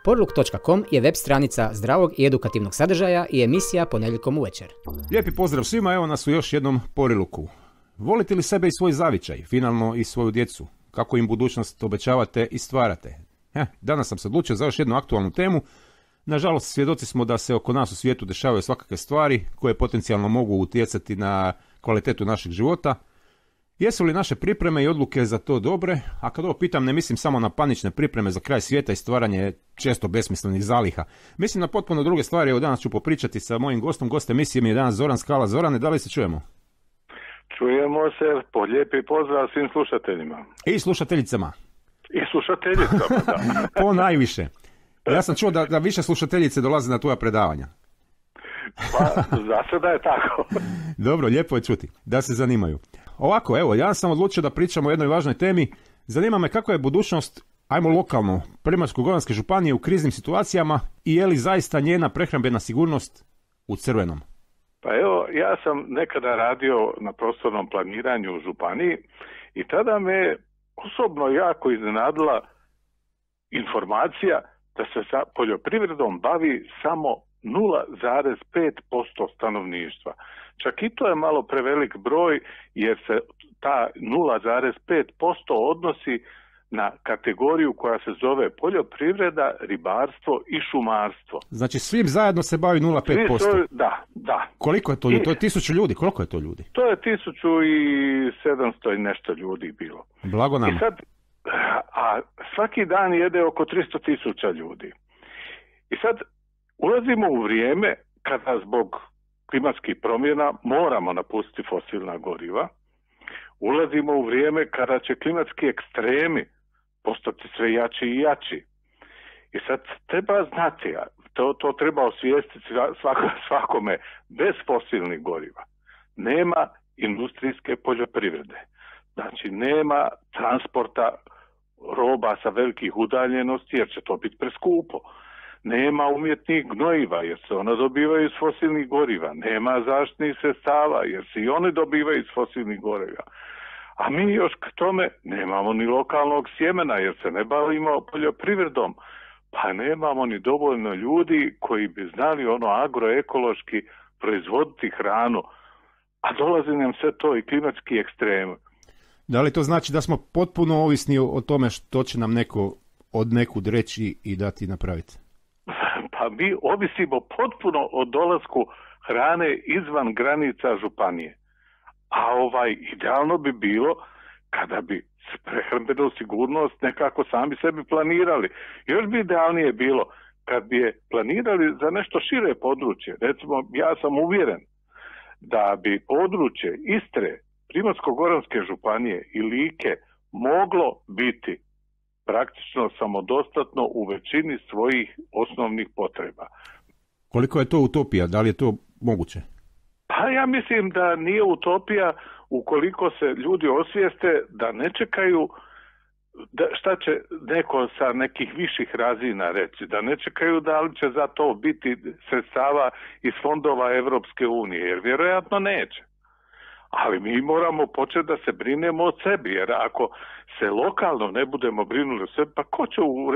Porluk.com je web stranica zdravog i edukativnog sadržaja i emisija ponedjeljkom uvečer. Lijepi pozdrav svima, evo nas u još jednom Poriluku. Volite li sebe i svoj zavičaj, finalno i svoju djecu? Kako im budućnost obećavate i stvarate? Danas sam se odlučio za još jednu aktualnu temu. Nažalost, svjedoci smo da se oko nas u svijetu dešavaju svakakve stvari koje potencijalno mogu utjecati na kvalitetu našeg života. Jesu li naše pripreme i odluke za to dobre? A kad ovo pitam, ne mislim samo na panične pripreme za kraj svijeta i stvaranje često besmislenih zaliha. Mislim na potpuno druge stvari. Evo danas ću popričati sa mojim gostom. Gost emisije mi je danas Zoran Skala. Zorane, da li se čujemo? Čujemo se, lijepi pozdrav svim slušateljima. I slušateljicama. I slušateljicama, da. Po najviše. Ja sam čuo da više slušateljice dolaze na tvoja predavanja. Pa, za sada je tako. Dobro, lijepo je čuti, da se zanimaju. Ovako, evo, ja sam odlučio da pričam o jednoj važnoj temi. Zanima me kakva je budućnost, ajmo lokalno, Primorsko-goranske županije u kriznim situacijama i je li zaista njena prehrambena sigurnost u crvenom? Pa evo, ja sam nekada radio na prostornom planiranju u županiji i tada me osobno jako iznenadila informacija da se sa poljoprivredom bavi samo 0,5% stanovništva. Čak i to je malo prevelik broj jer se ta 0,5% odnosi na kategoriju koja se zove poljoprivreda, ribarstvo i šumarstvo. Znači svim zajedno se bavi 0,5%? Da. Koliko je to ljudi? To je 1000 ljudi. Koliko je to ljudi? To je 1700 i nešto ljudi bilo. Blago nam. I sad, a svaki dan jede oko 300.000 ljudi. I sad ulazimo u vrijeme kada zbog klimatskih promjena moramo napustiti fosilna goriva. Ulazimo u vrijeme kada će klimatski ekstremi postati sve jači i jači. I sad treba znati, to treba osvijestiti svakome, bez fosilnih goriva nema industrijske poljoprivrede. Znači nema transporta roba sa velikih udaljenosti jer će to biti preskupo. Nema umjetnih gnojiva jer se ona dobivaju iz fosilnih goriva. Nema zaštitnih sredstava jer se i oni dobivaju iz fosilnih goriva. A mi još k tome nemamo ni lokalnog sjemena jer se ne bavimo poljoprivredom. Pa nemamo ni dovoljno ljudi koji bi znali agroekološki proizvoditi hranu. A dolazi nam sve to i klimatski ekstrem. Da li to znači da smo potpuno ovisni o tome što će nam neko od nekud reći i dati napraviti? Pa mi ovisimo potpuno o dolasku hrane izvan granica županije. A idealno bi bilo kada bi prehrambenu sigurnost nekako sami sebi planirali. Još bi idealnije bilo kad bi je planirali za nešto šire područje. Recimo, ja sam uvjeren da bi područje Istre, Primorsko-goranske županije i Like moglo biti praktično samodostatno u većini svojih osnovnih potreba. Koliko je to utopija? Da li je to moguće? Pa ja mislim da nije utopija ukoliko se ljudi osvijeste da ne čekaju šta će neko sa nekih viših razina reći, da ne čekaju da li će za to biti sredstava iz fondova Europske unije, jer vjerojatno neće. Ali mi moramo početi da se brinemo o sebi, jer ako se lokalno ne budemo brinuli o sebi, pa ko će u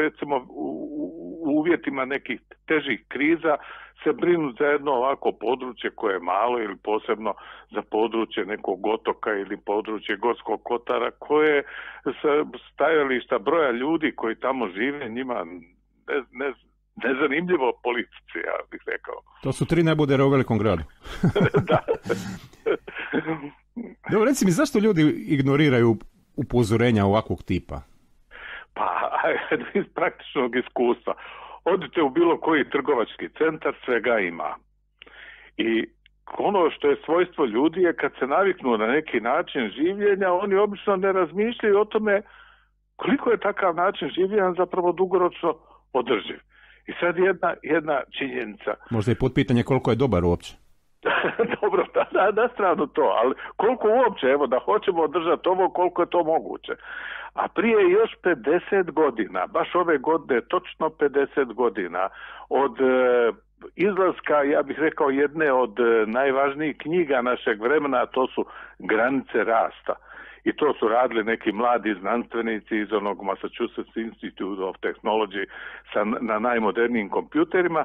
uvjetima nekih težih kriza se brinuti za jedno ovako područje koje je malo ili posebno za područje nekog otoka ili područje Gorskog kotara koje sa stajališta broja ljudi koji tamo žive njima nezanimljivo politici, ja bih rekao. To su 3 nebodera u velikom gradu. Da. Dobro, reci mi, zašto ljudi ignoriraju upozorenja ovakvog tipa? Pa, iz praktičnog iskustva. Odite u bilo koji trgovački centar, svega ima. I ono što je svojstvo ljudi je kad se naviknu na neki način življenja, oni obično ne razmišljaju o tome koliko je takav način življenja zapravo dugoročno održiv. I sad jedna činjenica. Možda je potpitanje koliko je dobar uopće. Dobro, na stranu to, ali koliko uopće, evo da hoćemo održati ovo, koliko je to moguće. A prije još 50 godina, baš ove godine, točno 50 godina, od izlaska, ja bih rekao, jedne od najvažnijih knjiga našeg vremena, a to su Granice rasta. i to su radili neki mladi znanstvenici iz onog Massachusetts Institute of Technology na najmodernijim kompjuterima.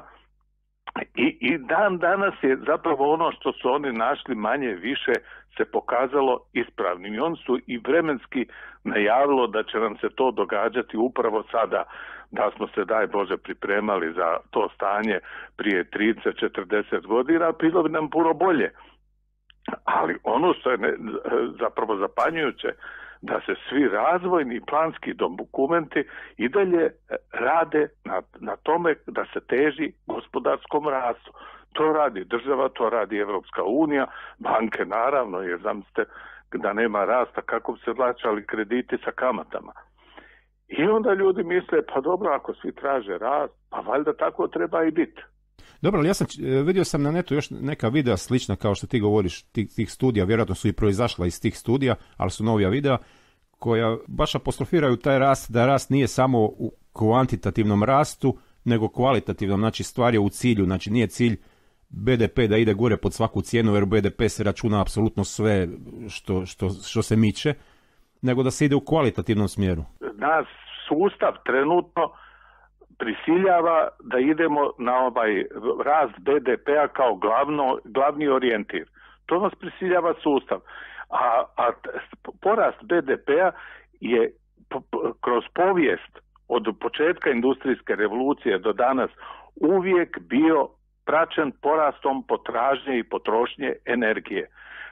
I dan danas je zapravo ono što su oni našli manje više se pokazalo ispravnim. I oni su i vremenski najavilo da će nam se to događati upravo sada, da smo se, daj Bože, pripremali za to stanje prije 30-40 godina, bilo bi nam puno bolje. Ali ono što je zapravo zapanjujuće, da se svi razvojni i planski dokumenti i dalje rade na tome da se teži gospodarskom rastu. To radi država, to radi Evropska unija, banke naravno, jer zamislite da nema rasta kako bi se vraćali krediti sa kamatama. I onda ljudi misle, pa dobro, ako svi traže rast, pa valjda tako treba i biti. Dobro, ali vidio sam na netu još neka videa slična kao što ti govoriš, tih studija, vjerojatno su i proizašla iz tih studija, ali su novija videa koja baš apostrofiraju taj rast, da rast nije samo u kvantitativnom rastu, nego kvalitativnom, znači stvar je u cilju, znači nije cilj BDP da ide gore pod svaku cijenu, jer BDP se računa apsolutno sve što se miče, nego da se ide u kvalitativnom smjeru. Nas sustav trenutno prisiljava da idemo na ovaj rast BDP-a kao glavni orijentir. To nas prisiljava sustav. A porast BDP-a je kroz povijest od početka industrijske revolucije do danas uvijek bio praćen porastom potražnje i potrošnje energije.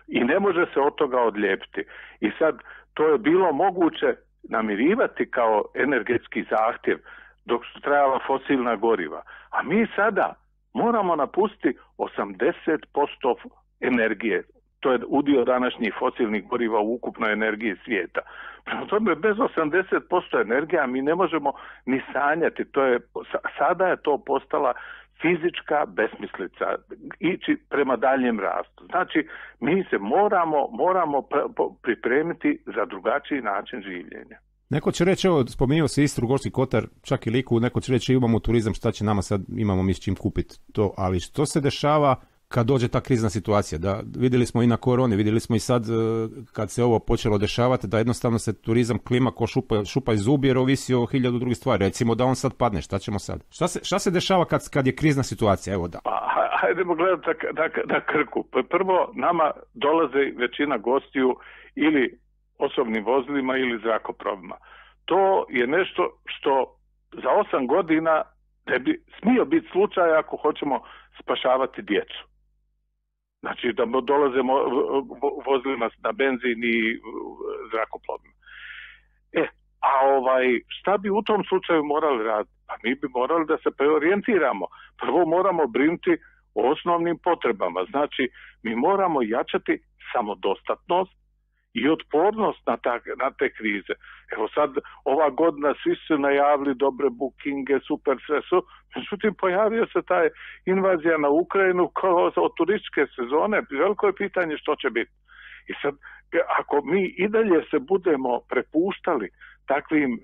I ne može se od toga odlijepiti. I sad to je bilo moguće namirivati kao energetski zahtjev dok su trajala fosilna goriva. A mi sada moramo napustiti 80% energije. To je udio današnjih fosilnih goriva u ukupnoj energiji svijeta. Prema tome, bez 80% energija mi ne možemo ni sanjati. Sada je to postala fizička besmislica, ići prema daljem rastu. Znači, mi se moramo pripremiti za drugačiji način življenja. Neko će reći, evo, spomenuo se Istru, Gorski Kotar, čak i Liku, neko će reći imamo turizam, šta će nama sad, imamo mi s čim kupiti to, ali što se dešava kad dođe ta krizna situacija? Da, vidjeli smo i na koroni, vidjeli smo i sad kad se ovo počelo dešavati, da jednostavno se turizam klima ko šupa iz zubi jer ovisi o 1000 drugih stvari. Recimo da on sad padne, šta ćemo sad? Šta se dešava kad je krizna situacija? Evo da. Hajdemo gledati na Krku. Prvo, nama dolaze većina gostiju ili osobnim vozilima ili zrakoplovima. To je nešto što za 8 godina ne bi smio biti slučaj ako hoćemo spašavati djecu. Znači da dolazimo vozilima na benzin i zrakoplovima. Šta bi u tom slučaju morali raditi? Pa mi bi morali da se preorijentiramo. Prvo moramo brinuti o osnovnim potrebama. Znači mi moramo jačati samodostatnost i otpornost na te krize. Evo sad, ova godina svi su najavili dobre bookinge, super sve su, međutim pojavio se taj invazija na Ukrajinu kao od turističke sezone, veliko je pitanje što će biti. I sad, ako mi i dalje se budemo prepuštali takvim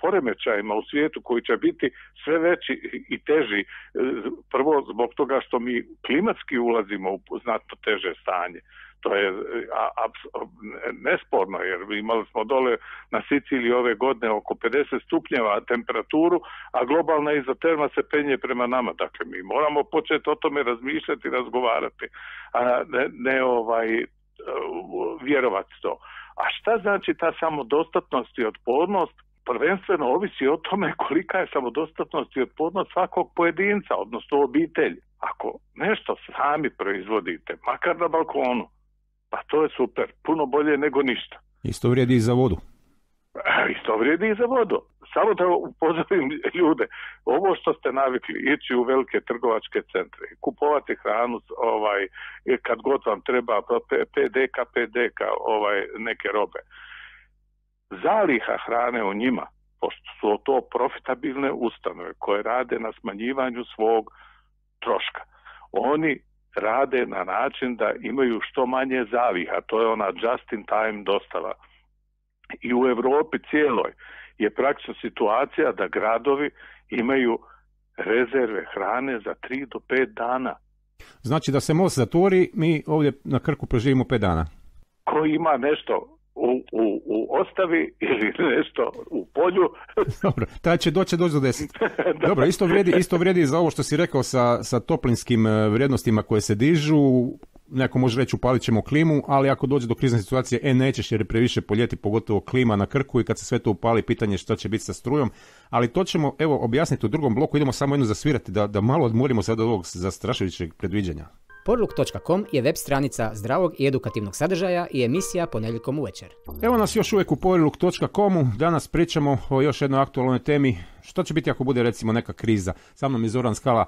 poremećajima u svijetu koji će biti sve veći i teži, prvo zbog toga što mi klimatski ulazimo u znatno teže stanje. To je nesporno, jer imali smo dole na Siciliji ove godine oko 50 stupnjeva temperaturu, a globalna izoterma se penje prema nama. Dakle, mi moramo početi o tome razmišljati i razgovarati, a ne vjerovati to. A šta znači ta samodostatnost i otpornost? Prvenstveno ovisi o tome kolika je samodostatnost i otpornost svakog pojedinca, odnosno obitelji. Ako nešto sami proizvodite, makar na balkonu, pa to je super, puno bolje nego ništa. Isto vrijedi i za vodu. Isto vrijedi i za vodu. Samo da upozorim ljude, ovo što ste navikli, ići u velike trgovačke centre, kupovati hranu, kad god vam treba, PDK, neke robe. Zaliha hrane u njima, pošto su to profitabilne ustanove koje rade na smanjivanju svog troška. Oni rade na način da imaju što manje zaliha, to je ona just in time dostava. I u Europi cijeloj je praktično situacija da gradovi imaju rezerve hrane za 3 do 5 dana. Znači da se most zatvori, mi ovdje na Krku preživimo 5 dana. Ko ima nešto u ostavi ili nešto u polju. Dobro, taj će doći do 10. Dobro, isto vrijedi za ovo što si rekao sa toplinskim vrijednostima koje se dižu. Neko može reći upalit ćemo klimu, ali ako dođe do krizne situacije, nećeš jer je previše po ljeti, pogotovo klima na Krku i kad se sve to upali, pitanje što će biti sa strujom. Ali to ćemo objasniti u drugom bloku, idemo samo jedno zasvirati da malo odmorimo sad od ovog zastrašujućeg predviđanja. Porluk.com je web stranica zdravog i edukativnog sadržaja i emisija ponedjeljkom uvečer. Evo nas još uvijek u Porluk.com, danas pričamo o još jednoj aktualnoj temi. Što će biti ako bude recimo neka kriza? Sa mnom je Zoran Skala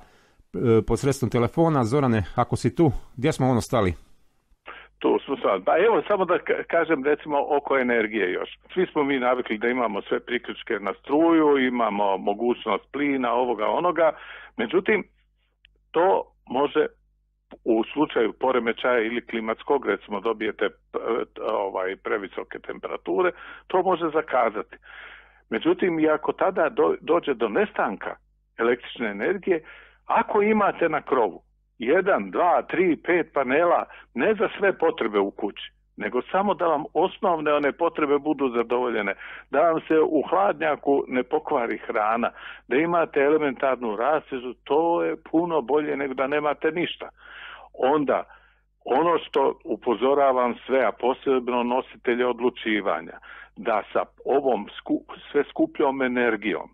posredstvom telefona. Zorane, ako si tu, gdje smo stali? Tu smo sad. Pa evo, samo da kažem recimo oko energije još. Svi smo mi navikli da imamo sve priključke na struju, imamo mogućnost plina, ovoga, onoga. Međutim, to može u slučaju poremećaja ili klimatskog, recimo dobijete previsoke temperature, to može zakazati. Međutim, i ako tada dođe do nestanka električne energije, ako imate na krovu 1, 2, 3, 5 panela, ne za sve potrebe u kući, nego samo da vam osnovne one potrebe budu zadovoljene, da vam se u hladnjaku ne pokvari hrana, da imate elementarnu rasvježu, to je puno bolje nego da nemate ništa. Onda, ono što upozoravam sve, a posebno nositelje odlučivanja, da sa ovom sve skupljom energijom,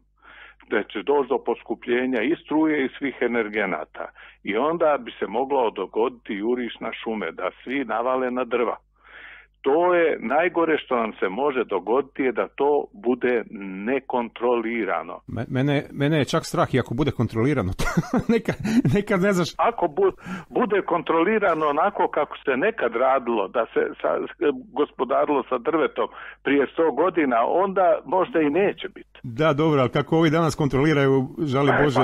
da će doći do poskupljenja i struje i svih energenata. I onda bi se moglo dogoditi juriš na šume, da svi navale na drva. To je najgore što nam se može dogoditi, je da to bude nekontrolirano. Mene je čak strah i ako bude kontrolirano. nekad ne znaš. Ako bude kontrolirano onako kako se nekad radilo, da se gospodarilo sa drvetom prije 100 godina, onda možda i neće biti. Da, dobro, ali kako ovi danas kontroliraju, žali Bože.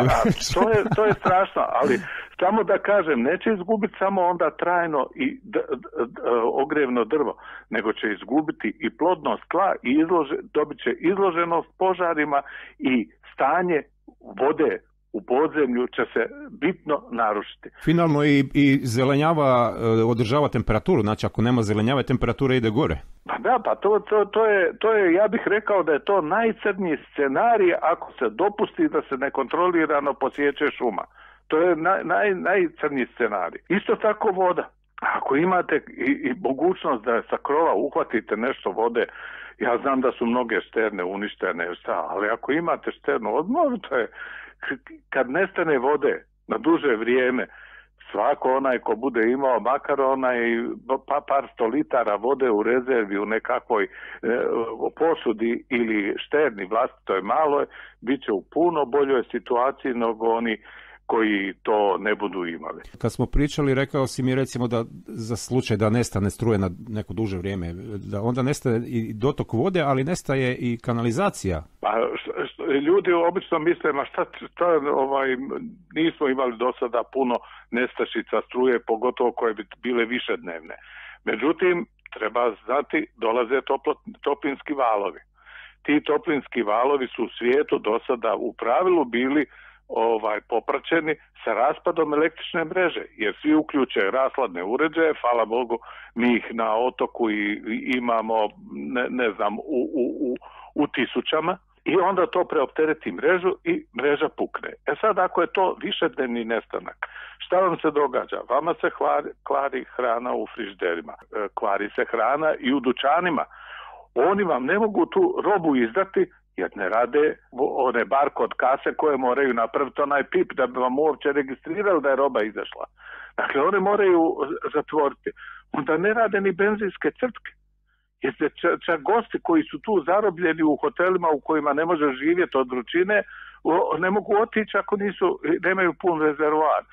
To je strašno, ali samo da kažem, neće izgubiti samo onda trajno i ogrevno drvo, nego će izgubiti i plodnost tla i dobit će izloženost požarima i stanje vode u podzemlju će se bitno narušiti. Finalno i zelenjava održava temperaturu, znači ako nema zelenjave temperatura ide gore. Pa da, pa to je, ja bih rekao da je to najcrnji scenarij ako se dopusti da se nekontrolirano posječe šuma. To je najcrnji scenarij. Isto tako voda. Ako imate i mogućnost da sa krova uhvatite nešto vode, ja znam da su mnoge šterne uništene, ali ako imate šternu odmor, to je kad nestane vode na duže vrijeme, svako onaj ko bude imao makar onaj par 100 litara vode u rezervi u nekakvoj posudi ili šterni vlastitoj maloj, bit će u puno boljoj situaciji nego oni koji to ne budu imali. Kad smo pričali, rekao si mi recimo da za slučaj da nestane struje na neko duže vrijeme, da onda nestaje i dotok vode, ali nestaje i kanalizacija. Pa ljudi obično misle, ma šta nismo imali do sada puno nestašica struje, pogotovo koje bi bile višednevne. Međutim, treba znati, dolaze toplinski valovi. Ti toplinski valovi su u svijetu do sada u pravilu bili popraćeni sa raspadom električne mreže, jer svi uključe rashladne uređaje, hvala Bogu, mi ih na otoku i imamo, ne znam, u tisućama, i onda to preoptereti mrežu i mreža pukne. Sad, ako je to višednevni nestanak, šta vam se događa? Vama se kvari hrana u frižiderima, kvari se hrana i u dućanima. Oni vam ne mogu tu robu izdati jer ne rade one barkod kase koje moraju napraviti onaj pip da bi vam uopće registrirali da je roba izašla. Dakle, one moraju zatvoriti. Onda ne rade ni benzinske crpke. Jer čak gosti koji su tu zarobljeni u hotelima u kojima ne može živjeti od vrućine, ne mogu otići ako nemaju pun rezervoar.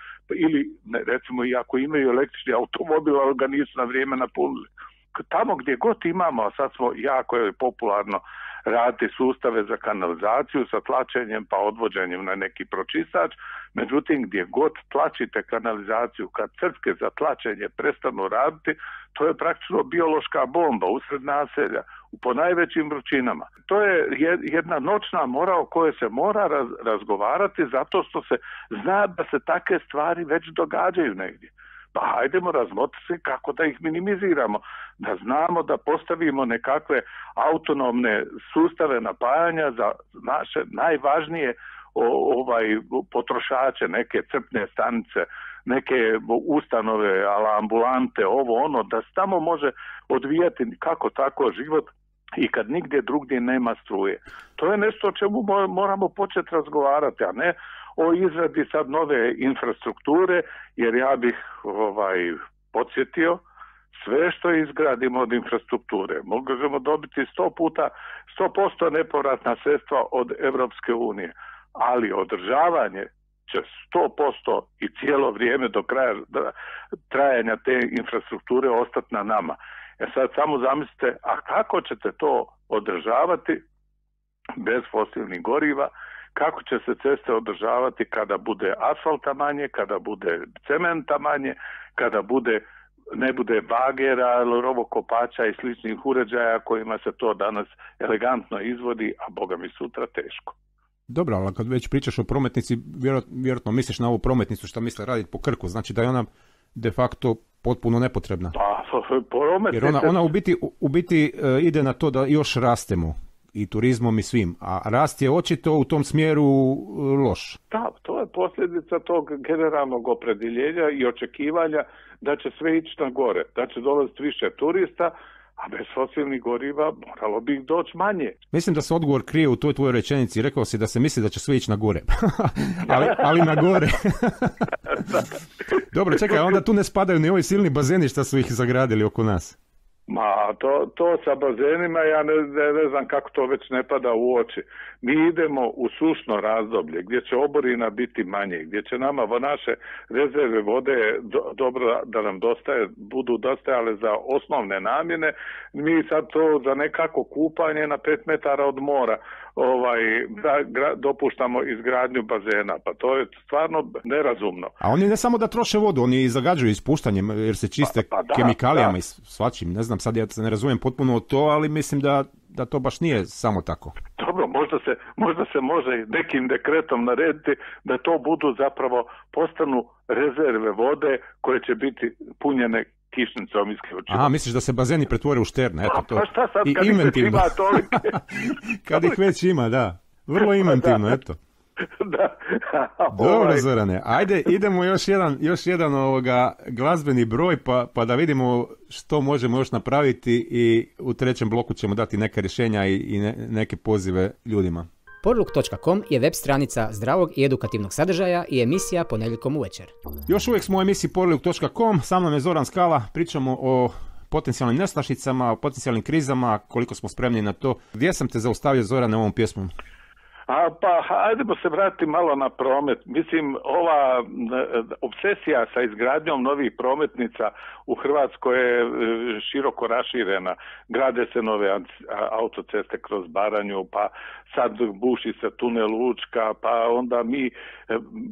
Ili, recimo, i ako imaju električni automobil, ali ga nisu na vrijeme napunili. Tamo gdje god imamo, a sad smo jako popularno raditi sustave za kanalizaciju sa tlačenjem pa odvođenjem na neki pročistač, međutim gdje god tlačite kanalizaciju, kad crpke za tlačenje prestanu raditi, to je praktično biološka bomba usred naselja, po najvećim vrućinama. To je jedna noćna mora o kojoj se mora razgovarati zato što se zna da se takve stvari već događaju negdje. Pa hajdemo razmotriti kako da ih minimiziramo, da znamo da postavimo nekakve autonomne sustave napajanja za naše najvažnije potrošače, neke crpne stanice, neke ustanove, ambulante, ovo ono, da se tamo može odvijati kako tako život i kad nigdje drugdje nema struje. To je nešto o čemu moramo početi razgovarati, a ne o izradi sad nove infrastrukture, jer ja bih podsjetio, sve što izgradimo od infrastrukture možemo dobiti 100% nepovratna sredstva od Europske unije, ali održavanje će 100% i cijelo vrijeme do kraja trajanja te infrastrukture ostati na nama. Sad samo zamislite, a kako ćete to održavati bez fosilnih goriva, kako će se ceste održavati kada bude asfalta manje, kada bude cementa manje, kada ne bude bagera, rovokopača i sličnih uređaja kojima se to danas elegantno izvodi, a boga mi sutra teško. Dobro, ali kad već pričaš o prometnici, vjerojatno misliš na ovu prometnicu što misle raditi po Krku, znači da je ona de facto potpuno nepotrebna. Pa, prometnice... Jer ona u biti ide na to da još rastemo i turizmom i svim, a rast je očito u tom smjeru loš. Da, to je posljedica tog generalnog opredjeljenja i očekivanja da će sve ići na gore, da će dolaziti više turista, a bez fosilnih goriva moralo bi ih doći manje. Mislim da se odgovor krije u toj tvojoj rečenici. Rekao si da se misli da će sve ići na gore. ali na gore. Dobro, čekaj, onda tu ne spadaju ni ovi silni bazeni što su ih zagradili oko nas. Ma, to sa bazenima, ja ne znam kako to već ne pada u oči. Mi idemo u sušno razdoblje gdje će oborina biti manje, gdje će nama naše rezerve vode dobro da nam budu dostajale za osnovne namjene. Mi sad to za nekako kupanje na 5 metara od mora dopuštamo izgradnju bazena. Pa to je stvarno nerazumno. A oni ne samo da troše vodu, oni i zagađuju ispuštanjem jer se čiste kemikalijama i svačim. Ne znam, sad ja se ne razumijem potpuno to, ali mislim da to baš nije samo tako. Dobro, možda se može nekim dekretom narediti da to budu zapravo postanu rezerve vode koje će biti punjene kišnicom isključivo. Aha, misliš da se bazeni pretvore u šterne, eto to. Pa šta sad, kad ih već ima tolike? Kad ih već ima, da. Vrlo inventivno, eto. Da. Dobro, Zorane, ajde idemo još jedan glazbeni broj pa da vidimo što možemo još napraviti i u trećem bloku ćemo dati neka rješenja i neke pozive ljudima. Porluk.com je web stranica zdravog i edukativnog sadržaja i emisija ponedjeljkom uvečer. Još uvijek smo u emisiji Porluk.com, sa mnom je Zoran Skala, pričamo o potencijalnim nestašicama, o potencijalnim krizama, koliko smo spremni na to. Gdje sam te zaustavio, Zorane, ovom pjesmom? Pa hajdemo se vratiti malo na promet. Mislim, ova obsesija sa izgradnjom novih prometnica u Hrvatskoj je široko raširena. Grade se nove autoceste kroz Baranju, pa sad buši se tunel Učka, pa onda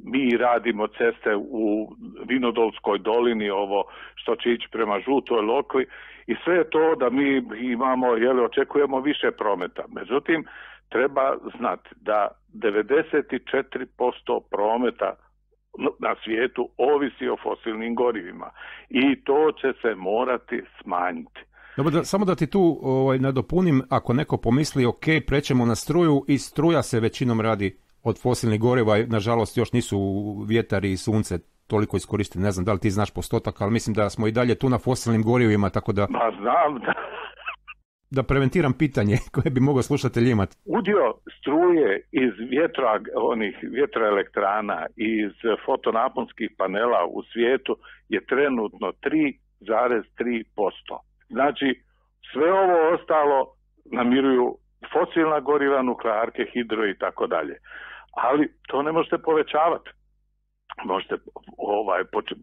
mi radimo ceste u Vinodolskoj dolini, ovo što će ići prema Žutoj Lokvi, i sve je to da mi imamo, očekujemo više prometa. Međutim, treba znati da 94% prometa na svijetu ovisi o fosilnim gorivima i to će se morati smanjiti. Dobro, samo da ti tu nadopunim, ako neko pomisli ok, prećemo na struju, i struja se većinom radi od fosilnih goriva, nažalost još nisu vjetar i sunce toliko iskoristili, ne znam da li ti znaš postotak, ali mislim da smo i dalje tu na fosilnim gorivima, tako da... Ma znam da preventiram pitanje koje bi mogao slušatelj imati. Udio struje iz vjetroelektrana i iz fotonaponskih panela u svijetu je trenutno 3,3%. Znači, sve ovo ostalo namiruju fosilna goriva, nuklearke, hidro i tako dalje. Ali to ne možete povećavati. Možete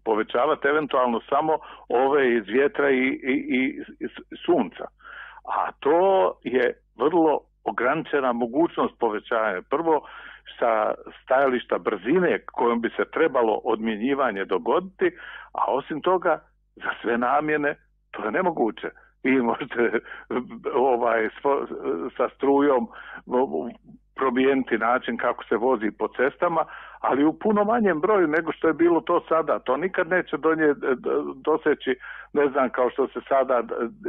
povećavati eventualno samo ove iz vjetra i sunca. A to je vrlo ograničena mogućnost povećanja. Prvo, sa stajališta brzine kojom bi se trebalo odmjenjivanje dogoditi, a osim toga, za sve namjene to je nemoguće. Vi možete sa strujom promijeniti način kako se vozi po cestama, ali u puno manjem broju nego što je bilo to sada. To nikad neće doseći, ne znam, kao što se sada,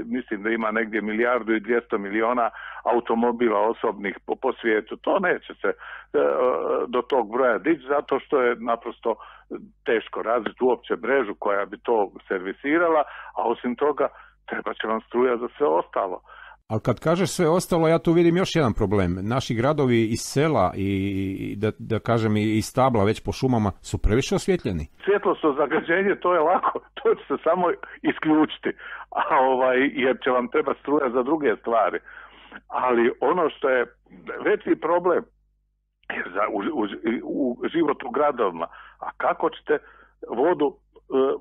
mislim da ima negdje 1.200.000.000 automobila osobnih po svijetu. To neće se do tog broja dići, zato što je naprosto teško razviti uopće mrežu koja bi to servisirala, a osim toga treba će vam struja za sve ostalo. Ali kad kažeš sve ostalo, ja tu vidim još jedan problem. Naši gradovi iz sela i da kažem i stabla već po šumama su previše osvjetljeni. Svjetlosno zagađenje, to je lako, to će se samo isključiti, jer će vam treba struja za druge stvari. Ali ono što je veći problem je u životu u gradovima, a kako ćete vodu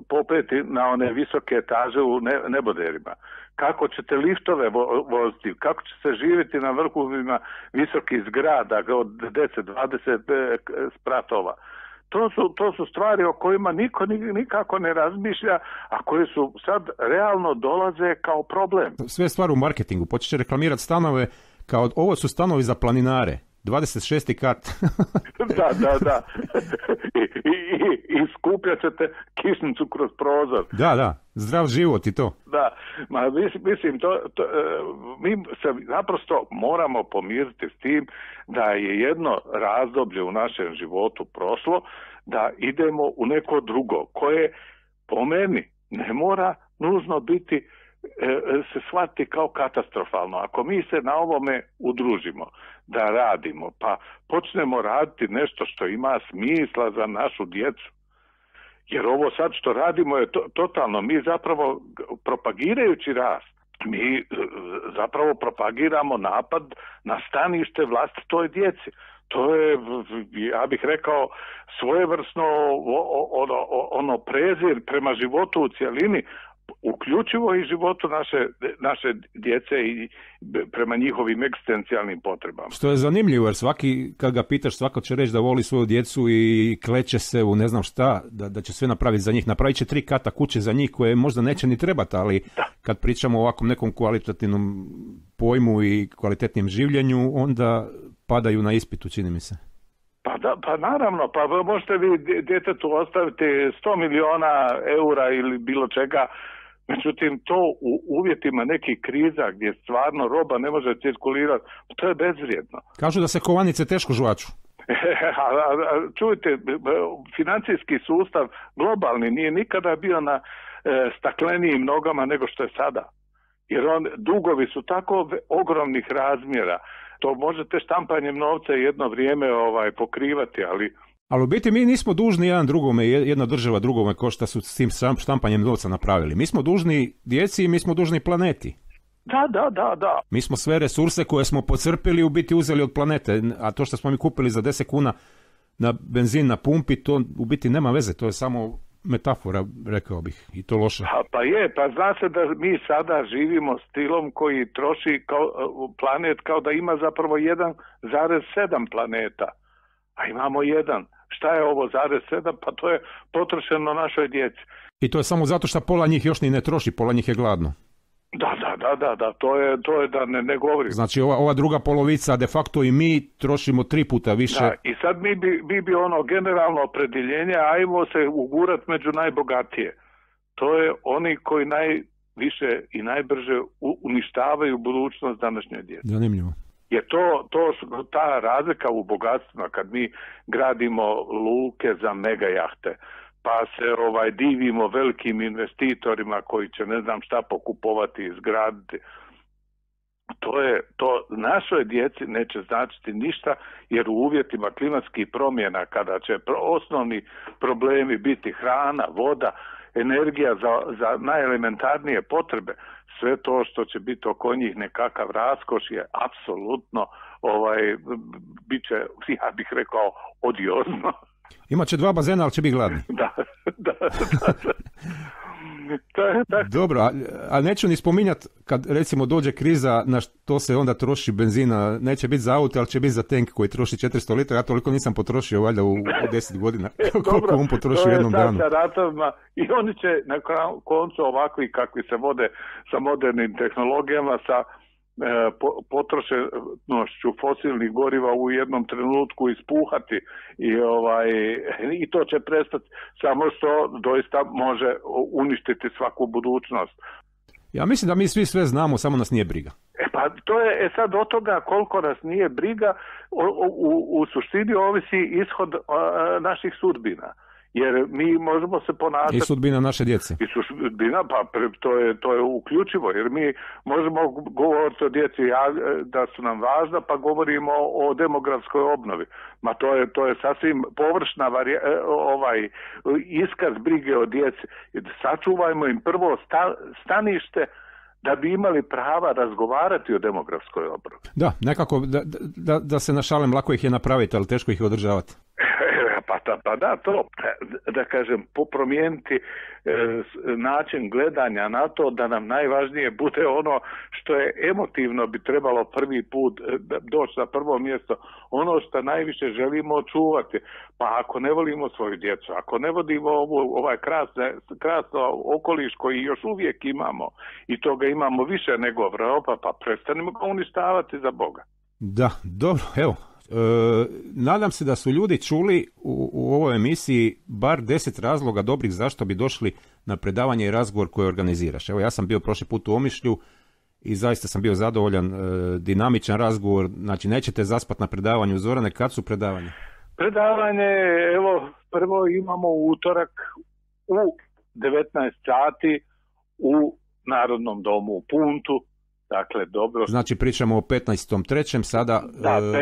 popeti na one visoke etaže u neboderima, kako ćete liftove voziti, kako će se živjeti na vrhovima visokih zgrada od 10-20 spratova. To su stvari o kojima niko nikako ne razmišlja, a koje su sad realno dolaze kao problem. Sve stvari u marketingu, počeće reklamirati stanove kao ovo su stanovi za planinare. 26. kat. Da. I skupljat ćete kišnicu kroz prozor. Da, zdrav život i to. Da, mislim, mi se naprosto moramo pomiriti s tim da je jedno razdoblje u našem životu prošlo, da idemo u neko drugo, koje po meni ne mora nužno biti se shvati kao katastrofalno. Ako mi se na ovome udružimo, da radimo, pa počnemo raditi nešto što ima smisla za našu djecu. Jer ovo sad što radimo je totalno, mi zapravo propagirajući rast, mi zapravo propagiramo napad na stanište vlastitoj djeci. To je, ja bih rekao, svojevrsno ono prezir prema životu u cjelini, uključivo i životu naše djece i prema njihovim egzistencijalnim potrebama. Što je zanimljivo, jer svaki, kad ga pitaš, svako će reći da voli svoju djecu i kleće se u ne znam šta, da će sve napraviti za njih. Napravit će 3 kata kuće za njih koje možda neće ni trebati, ali kad pričamo o ovakvom nekom kvalitativnom pojmu i kvalitetnim življenju, onda padaju na ispitu, čini mi se. Pa naravno, pa možete vi djetetu ostaviti 100 miliona eura ili bilo čega, međutim to u uvjetima nekih kriza gdje stvarno roba ne može cirkulirati, to je bezvrijedno. Kažu da se kovanice teško žvaču. Čujte, financijski sustav globalni nije nikada bio na staklenijim nogama nego što je sada. Jer dugovi su tako ogromnih razmjera. To možete štampanjem novca jedno vrijeme pokrivati, ali... Ali u biti mi nismo dužni jedan drugome, jedna država drugome ko što su s tim štampanjem novca napravili. Mi smo dužni djeci i mi smo dužni planeti. Da. Mi smo sve resurse koje smo pocrpili u biti uzeli od planete, a to što smo mi kupili za 10 kuna na benzin na pumpi, to u biti nema veze, to je samo metafora, rekao bih, i to loše. Pa zna se da mi sada živimo stilom koji troši planet kao da ima zapravo 1,7 planeta, a imamo jedan. Šta je ovo 0,7? Pa to je potrošeno našoj djeci. I to je samo zato što pola njih još ni ne troši, pola njih je gladno. Da, to je da ne govorim. Znači ova druga polovica, de facto i mi trošimo 3 puta više. Da, i sad mi bi generalno opredjeljenje, ajmo se ugurat među najbogatije. To je oni koji najviše i najbrže uništavaju budućnost današnje djece. Zanimljivo. Jer ta razlika u bogatstvima, kad mi gradimo luke za mega jahte, pa se divimo velikim investitorima koji će ne znam šta pokupovati i izgraditi. To našoj djeci neće značiti ništa, jer u uvjetima klimatskih promjena, kada će osnovni problemi biti hrana, voda, energija za najelementarnije potrebe, sve to što će biti oko njih nekakav raskoš je apsolutno bit će, ja bih rekao, odiozno. Imaće 2 bazena, ali će biti gladni. Da. Dobro, a neću ni spominjati kad recimo dođe kriza na što se onda troši benzina, neće biti za auto, ali će biti za tank koji troši 400 litara, ja toliko nisam potrošio valjda u 10 godina, koliko on potroši u jednom danu. Sa ratovima, i oni će na koncu ovakvi kakvi se vode sa modernim tehnologijama, sa potrošenošću fosilnih goriva u jednom trenutku ispuhati i to će prestati, samo što doista može uništiti svaku budućnost. Ja mislim da mi svi sve znamo, samo nas nije briga. Pa to je sad od toga koliko nas nije briga, u suštini ovisi ishod naših sudbina. Jer mi možemo se ponašati... I sudbina naše djece. I sudbina, pa to je uključivo, jer mi možemo govoriti o djeci da su nam važna, pa govorimo o demografskoj obnovi. Ma to je sasvim površna iskaz brige o djeci. Sačuvajmo im prvo stanište da bi imali prava razgovarati o demografskoj obnovi. Da, nekako da se našalim, lako ih je napraviti, ali teško ih je održavati. Pa da, to, da kažem, promijeniti način gledanja na to, da nam najvažnije bude ono što je emotivno bi trebalo prvi put doći na prvo mjesto, ono što najviše želimo očuvati. Pa ako ne volimo svoju djecu, ako ne vodimo ovaj krasno okoliš koji još uvijek imamo i toga imamo više nego Europa, pa prestanimo ga uništavati za Boga. Da, dobro, evo. Nadam se da su ljudi čuli u ovoj emisiji bar 10 razloga dobrih zašto bi došli na predavanje i razgovor koje organiziraš. Evo, ja sam bio prošli put u Omišlju i zaista sam bio zadovoljan, dinamičan razgovor. Znači, nećete zaspati na predavanju. Zorane, kad su predavanje? Predavanje, evo, prvo imamo utorak u 19 sati u Narodnom domu u Puntu. Dakle, dobro. Znači pričamo o 15.3. sada,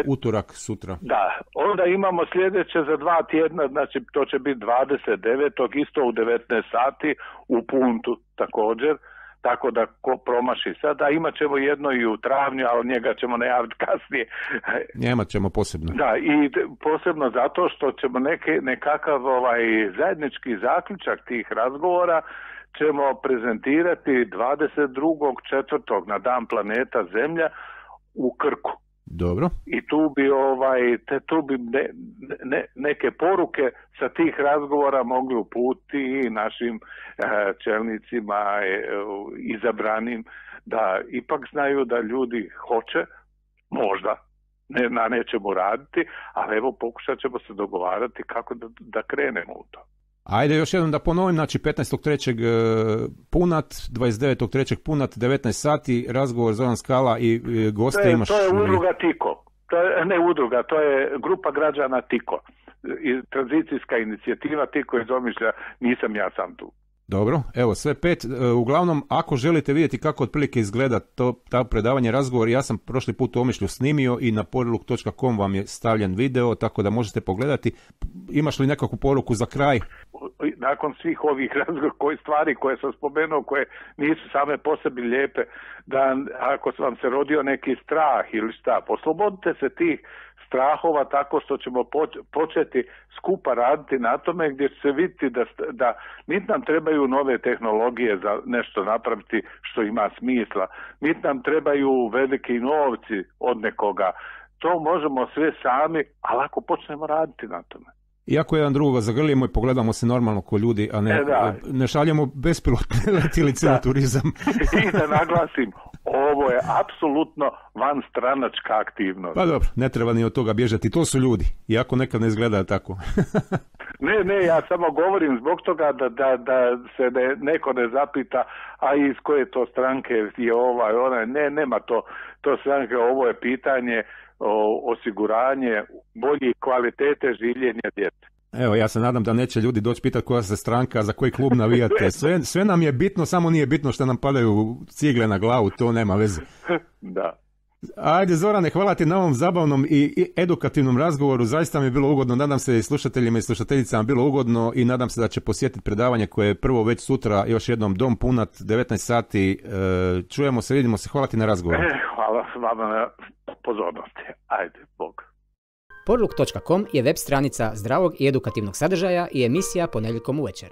utorak sutra. Da, onda imamo sljedeće za 2 tjedna, znači to će biti 29. isto u 19 sati u Puntu također, tako da ko promaši sada. Imat ćemo jedno i u travnju, ali njega ćemo najaviti kasnije. Imat ćemo posebno. Da, i posebno zato što ćemo nekakav zajednički zaključak tih razgovora ćemo prezentirati 22.4. na Dan planeta Zemlja u Krku. Dobro. I tu bi neke poruke sa tih razgovora mogli uputiti i našim čelnicima izabranim, da ipak znaju da ljudi hoće, možda, na nečemu raditi, ali evo pokušat ćemo se dogovarati kako da krenemo u to. Ajde još jednom da ponovim, znači 15.3. Punat, 29.3. Punat, 19 sati, razgovor Zoran Skala i goste imaš... To je udruga Tiko, to je grupa građana Tiko, tranzicijska inicijativa Tiko iz Omišlja, nisam ja sam tu. Dobro, evo sve 5. Uglavnom, ako želite vidjeti kako otprilike izgleda ta predavanje, razgovor, ja sam prošli put u Omišlju snimio i na poriluk.com vam je stavljen video, tako da možete pogledati. Imaš li nekakvu poruku za kraj? Nakon svih ovih stvari koje sam spomenuo, koje nisu same po sebi lijepe, da ako vam se rodio neki strah ili šta, poslobodite se tih strahova tako što ćemo početi skupa raditi na tome, gdje će se vidjeti da niti nam trebaju nove tehnologije za nešto napraviti što ima smisla, niti nam trebaju veliki novci od nekoga. To možemo sve sami, ali ako počnemo raditi na tome. Iako jedan drugoga zagrlijemo i pogledamo se normalno ko ljudi, a ne šaljemo bespilotne letjelice u turizam. I da naglasim, ovo je apsolutno vanstranačka aktivnost. Pa dobro, ne treba ni od toga bježati, to su ljudi, iako nekad ne izgleda tako. Ne, ja samo govorim zbog toga da se neko ne zapita, a iz koje to stranke je onaj, nema to stranke, ovo je pitanje osiguranje bolje kvalitete življenja djece. Evo, ja se nadam da neće ljudi doći pitati koja se stranka, za koji klub navijate. Sve nam je bitno, samo nije bitno što nam padaju cigle na glavu, to nema veze. Da. Ajde Zorane, hvala ti na ovom zabavnom i edukativnom razgovoru, zaista mi je bilo ugodno, nadam se i slušateljima i slušateljicama bilo ugodno i nadam se da će posjetiti predavanje koje je prvo već sutra, još jednom Dom Punat, 19 sati, čujemo se, vidimo se, hvala ti na razgovoru. Hvala vama na pozornosti, ajde, Bog. Poriluk.com je web stranica zdravog i edukativnog sadržaja i emisija ponedjeljkom uvečer.